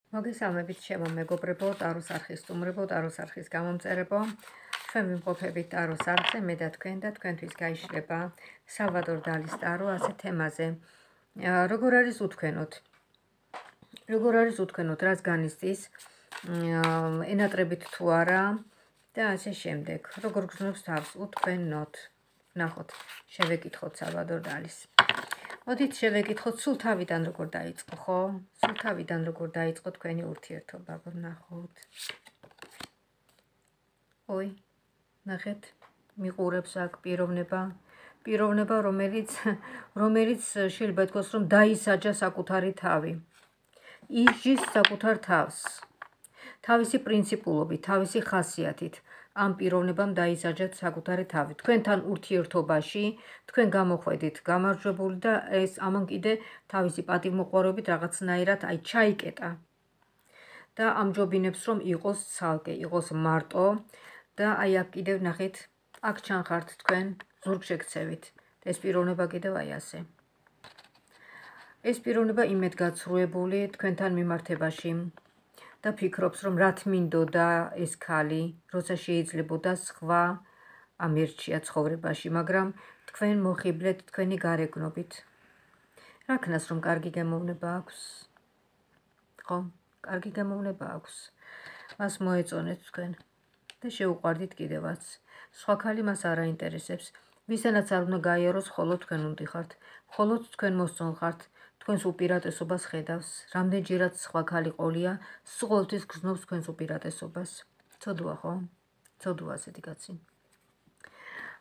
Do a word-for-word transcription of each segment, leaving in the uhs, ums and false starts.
მოგესალმებით ჩემო მეგობრებო, ტაროს არხის სტუმრებო, ტაროს არხის გამომწერებო. ჩვენ ვიმყოფებით ტაროს არხზე, მე და თქვენ და თქვენთვის გაიშლება სალვადორ დალის ტარო ასე თემაზე. როგორ არის უთქვენოთ? როგორ არის უთქვენოთ, რას განიცდის, ენატრებით თუ არა და ასე შემდეგ. როგორ გრძნობს თავს უთქვენოთ? ნახოთ, შევეკითხოთ სალვადორ დალის. მოდით შევეკითხოთ სულ თავიდან როგორ დაიწყო, ხო? სულ თავიდან როგორ დაიწყო თქვენი ურთიერთობა, ვნახოთ. ой, ნახეთ, მიყურებს აქ პიროვნება, პიროვნება, რომელიც რომელიც შეიძლება ითქვას, რომ დაისაჯა საკუთარი თავი. ისჯის საკუთარ თავს. თავისი პრინციპულობით, თავისი ხასიათით. ამ პიროვნებამ დაისაჯათ საკუთარი თავი. თქვენთან ურთიერთობაში, თქვენ გამოხვედით გამარჯვებული და ეს ამან კიდე თავისი პატივმოყვარეობით რაღაცნაირად აი ჩაიკეტა. და ამჯობინებს, რომ იყოს ცალკე, იყოს მარტო და აი აქ კიდევ ნახეთ, აქ ჩანხართ თქვენ ზურგშექცევით. ეს პიროვნება კიდევ აი ასე. ეს პიროვნება იმედგაცრუებული თქვენთან მიმართებაში. და ფიქრობს, რომ რა თმინდოდა ეს ქალი, როცა შეიძლებოდა სხვა ამერჩია ცხოვრებაში, მაგრამ თქვენ მოხიბლეთ თქვენი გარეგნობით. რა ქნას, რომ კარგი გემოვნება აქვს? ხო, კარგი გემოვნება აქვს. მას მოეწონეთ თქვენ და შეუყვარდით კიდევაც. სხვა ქალი მას არ აინტერესებს. ვისთანაც არ უნდა გაიაროს, მხოლოდ თქვენ უნდიხართ. მხოლოდ თქვენ მოსწონხართ. თქვენს უპირატესობას ხედავს, რამდენჯერაც სხვა ქალი ყოლია, სულ გრძნობს თქვენს უპირატესობას. ცოდვა ხო? ცოდვა ასეთი კაცი.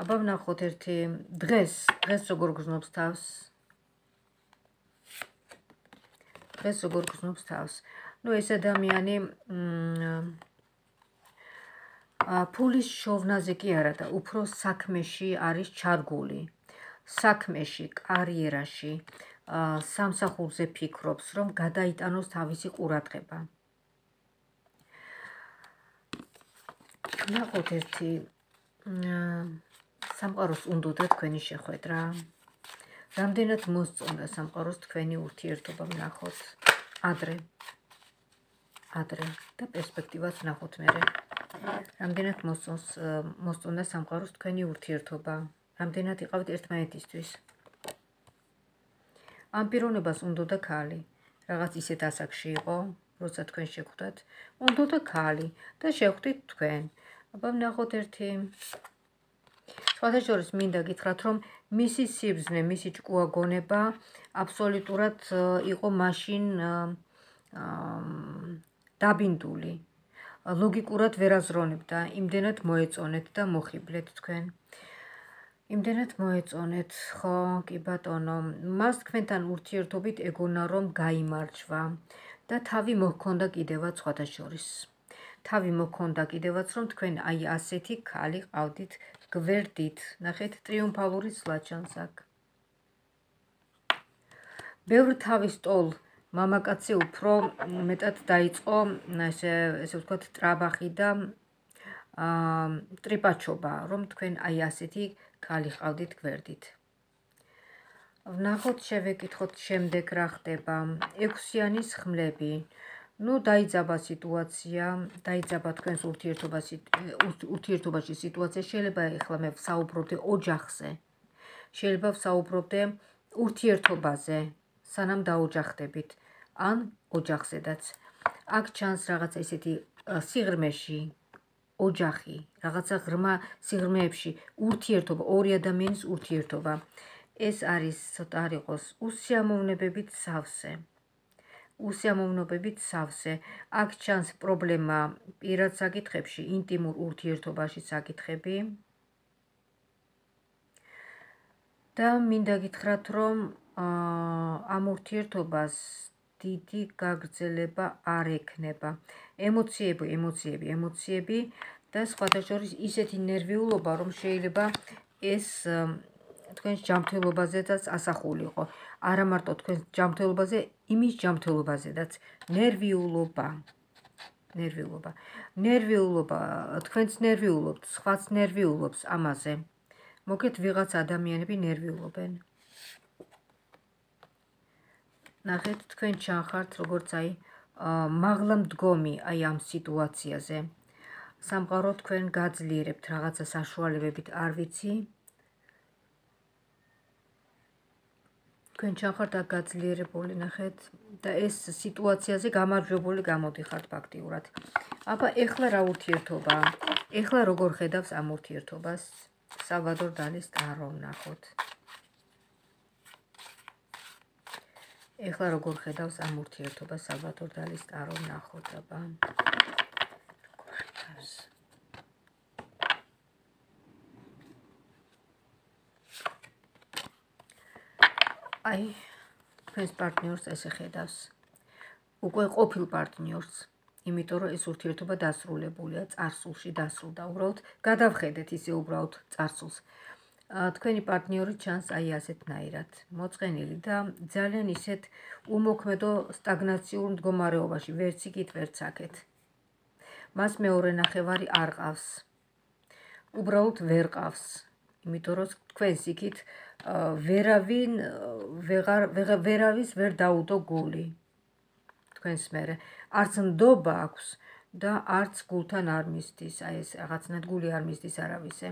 აბა ვნახოთ ერთი დღეს, დღეს როგორ გრძნობს თავს? დღეს როგორ გრძნობს თავს? ნუ ეს ადამიანი ფულის შოვნაზე კი არა და უფრო საქმეში არის ჩარგული. საქმეში, კარიერაში. სამსახურზე ფიქრობს, რომ გადაიტანოს თავისი ყურადღება. ნახოთ ერთი სამყაროს უნდოდა თქვენი შეხვედრა. რამდენად მოსწონდა სამყაროს თქვენი ურთიერთობა, ვნახოთ. ადრე. ადრე და პერსპექტივას ვნახოთ მერე. რამდენად მოსწონს მოსწონდა სამყაროს თქვენი ურთიერთობა. რამდენად იყავით ერთმანეთისთვის. ამ პიროვნებას უნდოდა ქალი. რაღაც ისეთ ასაკში იყო, როცა თქვენ შეხვდათ, უნდოდა ქალი და შეხვდით თქვენ. აბა ვნახოთ ერთი. სხვათა შორის მინდა გითხრათ, რომ მისი სიბრძნე, მისი ჭკუა გონება აბსოლუტურად იყო მაშინ დაბინდული. ლოგიკურად ვერ აზროვნებდა, იმდენად მოეწონეთ და მოხიბლეთ თქვენ. იმდენად მოეწონეთ, ხო, კი ბატონო, მას თქვენთან ურთიერთობით ეგონა რომ გაიმარჯვა და თავი მოჰქონდა კიდევაც სხვათა შორის. თავი მოჰქონდა კიდევაც რომ თქვენ აი ასეთი ქალი ყავდით გვერდით. ნახეთ, ტრიუმფალური სლაჩანს აქ. ბევრ თავის ტოლ მამაკაცი უფრო მეტად დაიწყო, ესე ესე ვთქვათ, ტრაბახი და ტრიპაჩობა, რომ თქვენ აი ასეთი ქალი ყავდით გვერდით. ვნახოთ, შევეკითხოთ შემდეგ რა ხდება. ექვსიანის ხმლები. ნუ დაიძაბა სიტუაცია, დაიძაბა თქვენს ურთიერთობაში სიტუაცია. შეიძლება ეხლა მე ვსაუბრობდე ოჯახზე. შეიძლება ვსაუბრობდე ურთიერთობაზე, სანამ დაოჯახდებით, ან ოჯახზედაც. აქ ჩანს რაღაცა ისეთი სიღრმეში ოჯახი, რაღაცა ღრმა სიღრმეებში ურთიერთობა, ორი ადამიანის ურთიერთობა. ეს არის ცოტა არ იყოს უსიამოვნებებით სავსე. უსიამოვნებებით სავსე. აქ ჩანს პრობლემა პირად საკითხებში, ინტიმურ ურთიერთობაში საკითხები. და მინდა გითხრათ, რომ ამ ურთიერთობას დიდი გაგრძელება არ ექნება. ემოციები, ემოციები, ემოციები და სხვათა შორის ისეთი ნერვიულობა, რომ შეიძლება ეს თქვენს ჯანმრთელობაზედაც ასახულიყო. არა მარტო თქვენს ჯანმრთელობაზე, იმის ჯანმრთელობაზედაც. ნერვიულობა. ნერვიულობა. ნერვიულობა, თქვენც ნერვიულობთ, სხვაც ნერვიულობს ამაზე. მოგეთ ვიღაც ადამიანები ნერვიულობენ. ნახეთ, თქვენ ჩანხართ, როგორც აი მაღლა მდგომი აი ამ სიტუაციაზე. სამყარო თქვენ გაძლიერებთ რაღაცა საშუალებებით, არ ვიცი. თქვენ ჩახართ აქ გაძლიერებული, ნახეთ, და ეს სიტუაციაზე გამარჯვებული გამოდიხართ ფაქტიურად. აბა ეხლა რა ურთიერთობაა? ეხლა როგორ ხედავს ამ ურთიერთობას სალვადორ დალის ტარო, ნახოთ. ეხლა როგორ ხედავს ამ ურთიერთობას სალვადორ დალის ტარო, ნახოთ, აბა. როგორ ხედავს? აი, თქვენს პარტნიორს ესე ხედავს. უკვე ყოფილ პარტნიორს, იმიტომ რომ ეს ურთიერთობა დასრულებულია, წარსულში დასრულდა. უბრალოდ გადავხედეთ ისე უბრალოდ წარსულს. თქვენი პარტნიორი ჩანს აი ასეთნაირად, მოწყენილი და ძალიან ისეთ უმოქმედო სტაგნაციურ მდგომარეობაში, ვერც იქით, ვერც აქეთ. მას მეორე ნახევარი არ ყავს. უბრალოდ ვერ ყავს. იმიტომ რომ თქვენს იქით ვერავინ ვერავის ვერ დაუდო გული. თქვენს მერე არც ნდობა აქვს და არც გულთან არ მისდის, აი ეს რაღაცნაირად გული არ მისდის არავისე.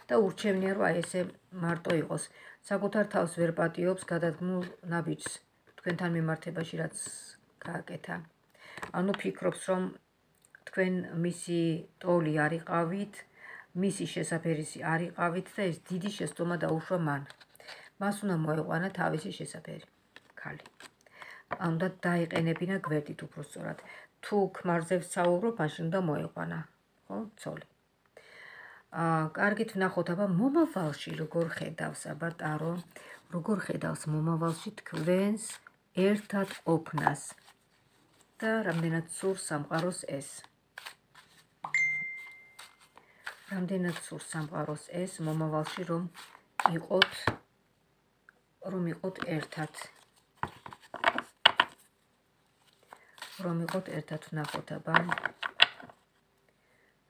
და ურჩევნია რომ აი ესე მარტო იყოს. საკუთარ თავს ვერ პატიობს გადადგმულ ნაბიჯს თქვენთან მიმართებაში რაც გააკეთა. ანუ ფიქრობს რომ თქვენ მისი ტოლი არ იყავით, მისი შესაფერისი არ იყავით და ეს დიდი შეცდომა დაუშვა მან. მას უნდა მოეყვანა თავისი შესაფერი ქალი. უნდა დაიყენებინა გვერდით უბრალოდ. თუ ქმარზე ვსაუბრობ, მაშინ უნდა მოეყვანა, ხო, ცოლი. აა, კარგით ვნახოთ, აბა მომავალში როგორ ხედავს, აბა ტარო, როგორ ხედავს მომავალში თქვენს ერთად ყოფნას და რამდენად სურს სამყაროს ეს. რამდენად სურს სამყაროს ეს მომავალში რომ იყოთ რომ იყოთ ერთად. რომ იყოთ ერთად ვნახოთ, აბა.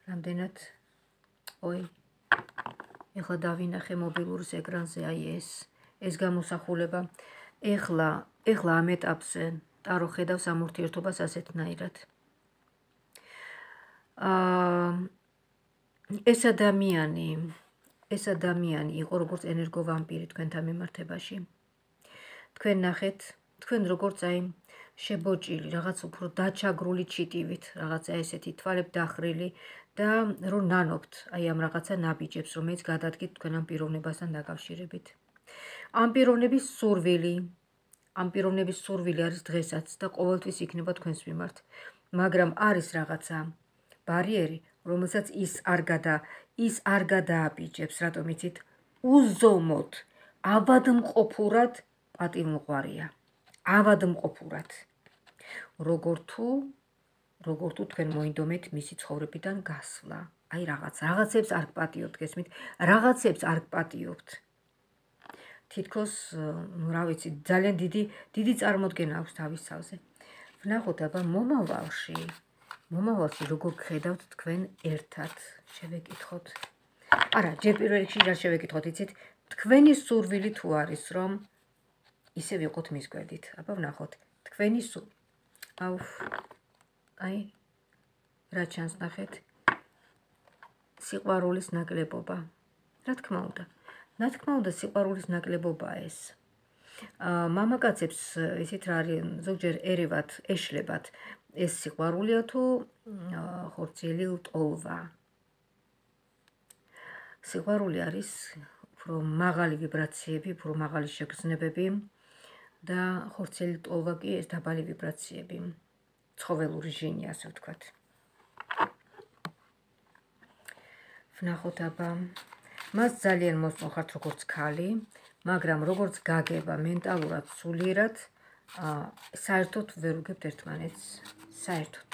რამდენად ой, ეხლა დავინახე მობილურის ეკრანზე აი ეს, ეს გამოსახულება. ეხლა, ეხლა ამ ეტაპზე ტარო ხედავს ამ ურთიერთობას ასეთნაირად. აა ეს ადამიანი, ეს ადამიანი იყო როგორც ენერგოვამპირი თქვენთან მიმართებაში. თქვენ ნახეთ, თქვენ როგორც აი შებოჭილი, რაღაც უფრო დაჩაგრული ჩიტივით, რაღაცა ესეთი თვალები დახრილი და რომ ნანობთ აი ამ რაღაცა ნაბიჯებს, რომელიც გადადგით თქვენ ამ პიროვნებასთან დაკავშირებით. ამ პიროვნების სურვილი, ამ პიროვნების სურვილი არის დღესაც და ყოველთვის იქნება თქვენს მიმართ, მაგრამ არის რაღაცა ბარიერი, რომელსაც ის არ გადა, ის არ გადააბიჯებს, რატომ იცით? უზომოდ, ავადმყოფურად პატივმოყვარია. ავადმყოფურად. როგორ თუ, როგორ თუ თქვენ მოინდომეთ მისი ცხოვრებიდან გასვლა. აი რაღაც, რაღაცებს არ გპატიობთ, გესმით? რაღაცებს არ გპატიობთ. თითქოს, ну, რა ვიცი, ძალიან დიდი, დიდი წარმოდგენა აქვს თავის თავზე. ვნახოთ, აბა მომავალში, მომავალში როგორ გხედავთ თქვენ ერთად, შევეკითხოთ. არა, ჯერ პირველ რიგში რა შევეკითხოთ, იცით? თქვენი სურვილი თუ არის, რომ ისე ვიყოთ მის გვერდით. აბა ვნახოთ, თქვენი სულ. აუ, აი, რა ჩანს ნახეთ? სიყვარულის ნაკლებობა. რა თქმა უნდა. რა თქმა უნდა, სიყვარულის ნაკლებობაა ეს. აა, მამაკაცებს ისეთ რა არის, ზოგჯერ ერევათ, ეშლებათ. ეს სიყვარულია თუ ხორციელი ლტოლვა. სიყვარული არის უფრო მაღალი ვიბრაციები, უფრო მაღალი შეგრძნებები და ხორციელი ლტოლვა კი ეს დაბალი ვიბრაციები. ცხოველური ჟინი, ასე ვთქვათ. ვნახოთ, აბა. მას ძალიან მოსწონხართ როგორც ქალი, მაგრამ როგორც გაგება მენტალურად, სულიერად, საერთოდ ვერ უგებთ ერთმანეთს, საერთოდ.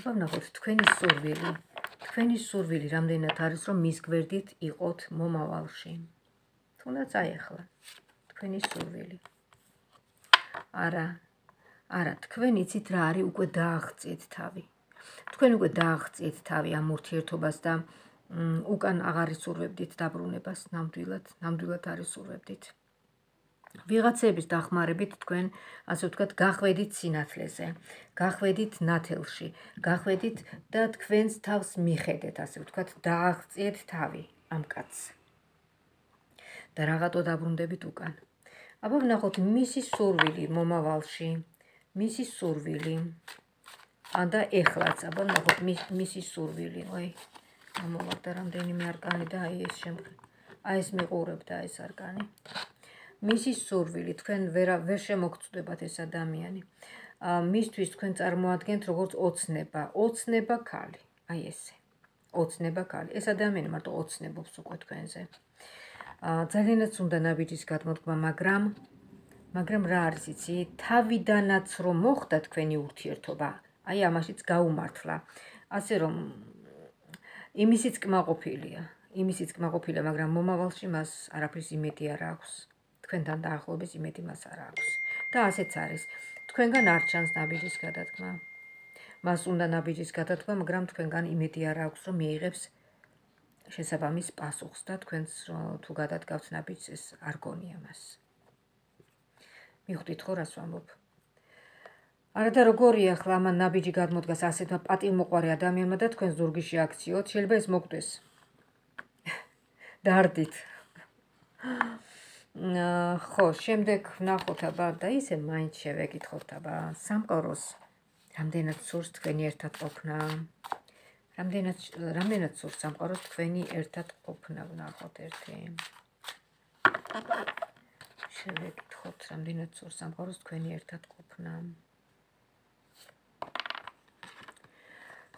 აბა ვნახოთ, თქვენი სურვილი, თქვენი სურვილი რამდენად არის, რომ მის გვერდით იყოთ მომავალში. თუნდაც აი ახლა, თქვენი სურვილი. არა, არა, თქვენ იცით რა არის, უკვე დააღწიეთ თავი. თქვენ უკვე დააღწიეთ თავი ამ ურთიერთობას და უკან აღარ ისურვებდით დაბრუნებას, ნამდვილად, ნამდვილად არ ისურვებდით. ვიღაცების დახმარებით თქვენ, ასე ვთქვათ, გახვედით სინათლეზე, გახვედით ნათელში, გახვედით და თქვენს თავს მიხედეთ, ასე ვთქვათ, დააღწიეთ თავი ამ კაცს. და რაღაცო დაბრუნდებით უკან. აბა ვნახოთ მისი სურვილი მომავალში, მისი სურვილი. და ეხლაც, აბა ვნახოთ მისი სურვილი. ой, მომოვარდა რამდენიმე არკანი და აი ეს შემდგ. აი ეს მიყურებდა ეს არკანი. მისი სურვილი, თქვენ ვერ ვერ შემოგწდებათ ეს ადამიანი. მისთვის თქვენ წარმოადგენთ როგორც ოცნება, ოცნება ქალი. აი ესე. ოცნება ქალი. ეს ადამიანი მარტო ოცნებობს უკვე თქვენზე. ძალიანაც უნდა ნაბიჯის გადმოდგმა, მაგრამ მაგრამ რა არის იცი, თავიდანაც რომ მოხდა თქვენი ურთიერთობა, აი ამაშიც გაუმართლა. ასე რომ იმისიც კმაყოფილია, იმისიც კმაყოფილია, მაგრამ მომავალში მას არაფრის იმედი არ აქვს. თქვენთან დაახლოების იმედი მას არ აქვს. და ასეც არის. თქვენგან არ ჩანს ნაბიჯის გადადგმა. მას უნდა ნაბიჯის გადადგმა, მაგრამ თქვენგან იმედი არ აქვს, რომ მიიღებს შესაბამის პასუხს და თქვენს თუ გადადგავთ ნაბიჯს, ეს არ გონია მას. მიხვდით ხო რას ვამბობ? არა და როგორია ახლა ამან ნაბიჯი გადმოდგას ასეთმა პატივმოყვარე ადამიანმა და თქვენ ზურგიში აქციოთ, შეიძლება ეს მოგდეს. დარდით. ხო, შემდეგ ვნახოთ აბა და ისე მაინც შევეკითხოთ აბა სამყაროს რამდენად სურს თქვენი ერთად ყოფნა. რამდენად რამდენად სურს სამყაროს თქვენი ერთად ყოფნა, ვნახოთ ერთი. შევეკითხოთ რამდენად სურს სამყაროს თქვენი ერთად ყოფნა.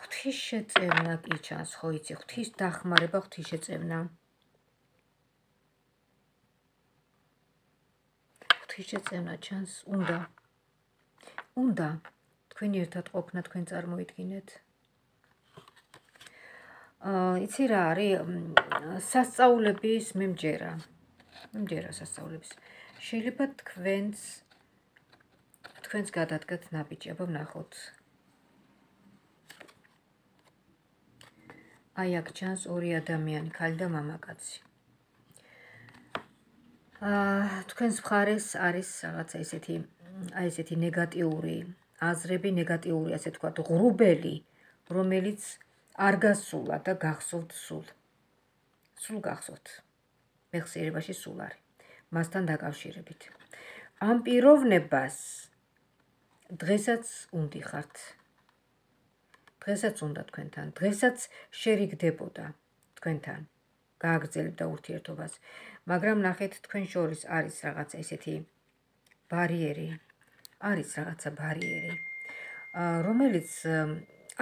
ღვთის შეწევნა კი ჩანს, ხო იცი, ღვთის დახმარება, ღვთის შეწევნა. ღვთის შეწევნა ჩანს, უნდა. უნდა თქვენი ერთად ყოფნა თქვენ წარმოიდგინეთ. აა, იცი რა არის, სასწაულების მე მჯერა. მე მჯერა სასწაულების. შეიძლება თქვენს თქვენს გადადგათ ნაბიჯი, აბა ვნახოთ. აი აქ ჩანს ორი ადამიანი, ქალი და მამაკაცი. აა, თქვენს მხარეს არის რაღაცა ესეთი, აი ესეთი ნეგატიური აზრები, ნეგატიური, ასე ვთქვათ, ღრუბელი, რომელიც არ გასულა და გახსოვთ სულ. სულ გახსოვთ. მეხსიერებაში სულ არის. მასთან დაკავშირებით. ამ პიროვნებას დღესაც უნდიხართ. დღესაც უნდა თქვენთან, დღესაც შერიგდებოდა თქვენთან, გააგრძელებდა ურთიერთობას, მაგრამ ნახეთ თქვენ შორის არის რაღაცა ესეთი ბარიერი, არის რაღაცა ბარიერი, რომელიც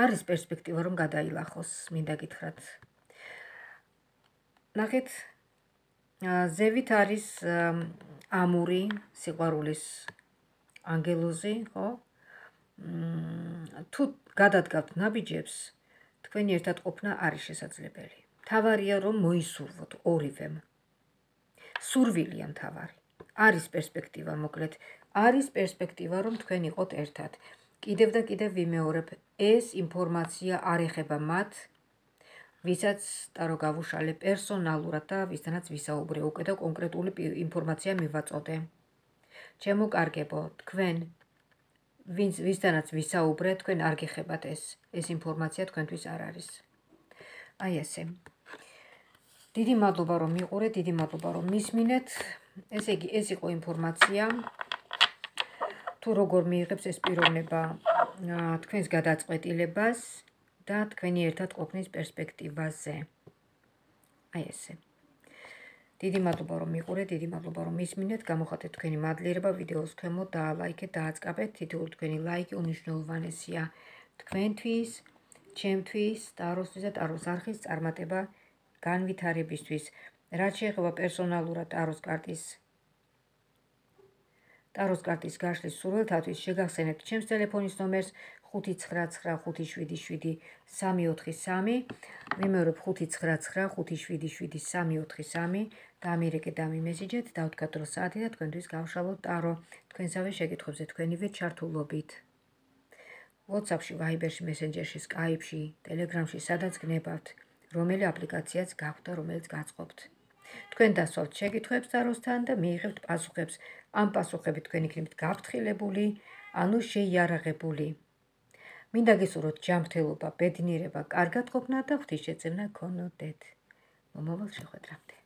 არის პერსპექტივა რომ გადაილახოს, მინდა გითხრათ. ნახეთ, ზევით არის ამური, სიყვარულის ანგელოზი, ხო? თუ გადადგავთ ნაბიჯებს, თქვენი ერთად ყოფნა არის შესაძლებელი. თავარია რომ მოისურვოთ ორივემ. სურვილია მთავარი. არის პერსპექტივა, მოკლედ, არის პერსპექტივა რომ თქვენ იყოთ ერთად. კიდევ და კიდევ ვიმეორებ, ეს ინფორმაცია არ ეხება მათ, ვისაც ტარო გავუშალე პერსონალურად და ვისთანაც ვისაუბრე, უკვე და კონკრეტული ინფორმაცია მივაწოდე. ჩემო კარგებო, თქვენ ვინც ვისთანაც ვისაუბრე, თქვენ არ გიხებათ ეს, ეს ინფორმაცია თქვენთვის არ არის. აი ესე. დიდი მადლობა რომ მიყურეთ, დიდი მადლობა რომ მისმინეთ. ესე იგი, ეს იყო ინფორმაცია. თუ როგორ მიიღებს ეს პიროვნება თქვენს გადაწყვეტილებას და თქვენი ერთად ყოფნის პერსპექტივაზე. აი ესე. დიდი მადლობა რომ მიყურეთ, დიდი მადლობა რომ მისმინეთ, გამოხატეთ თქვენი მადლიერება ვიდეოს ქვემოთ, დაალაიქეთ, დააწყაბეთ, თითოეული თქვენი ლაიკი უნიშნულოვანესია თქვენთვის, ჩემთვის, ტაროსთვის და ტაროს არხის წარმატება განვითარებისთვის. რაც შეეხება პერსონალურად ტაროს კარტის ტაროს კარტის გაშლის სურვილთათვის შეგახსენებთ ჩემს ტელეფონის ნომერს ხუთი ცხრა ცხრა ხუთი შვიდი შვიდი სამი ოთხი სამი, ვიმეორებ ხუთი ცხრა ცხრა ხუთი შვიდი შვიდი სამი ოთხი სამი, დაამირეკეთ და მიმესიჯეთ, დავთქვათ დრო საათი და თქვენთვის გავშალოთ ტარო, თქვენსავე შეკითხვებზე თქვენივე ჩართულობით. WhatsApp-ში, Viber-ში, Messenger-ში, Skype-ში, Telegram-ში, სადაც გნებავთ, რომელი აპლიკაციაც გაქვთ და რომელიც გაწყობთ. თქვენ დასვავთ შეკითხვებს ძაროსთან და მიიღებთ პასუხებს. ამ პასუხებით თქვენ იქნებით გაფრთხილებული, ანუ შეიარაღებული. მინდა გესურვოთ ჯანმრთელობა, ბედნიერება, კარგად ყოფნა და ღვთისშეწირნა გქონოდეთ. მომავალ შეხვედრამდე.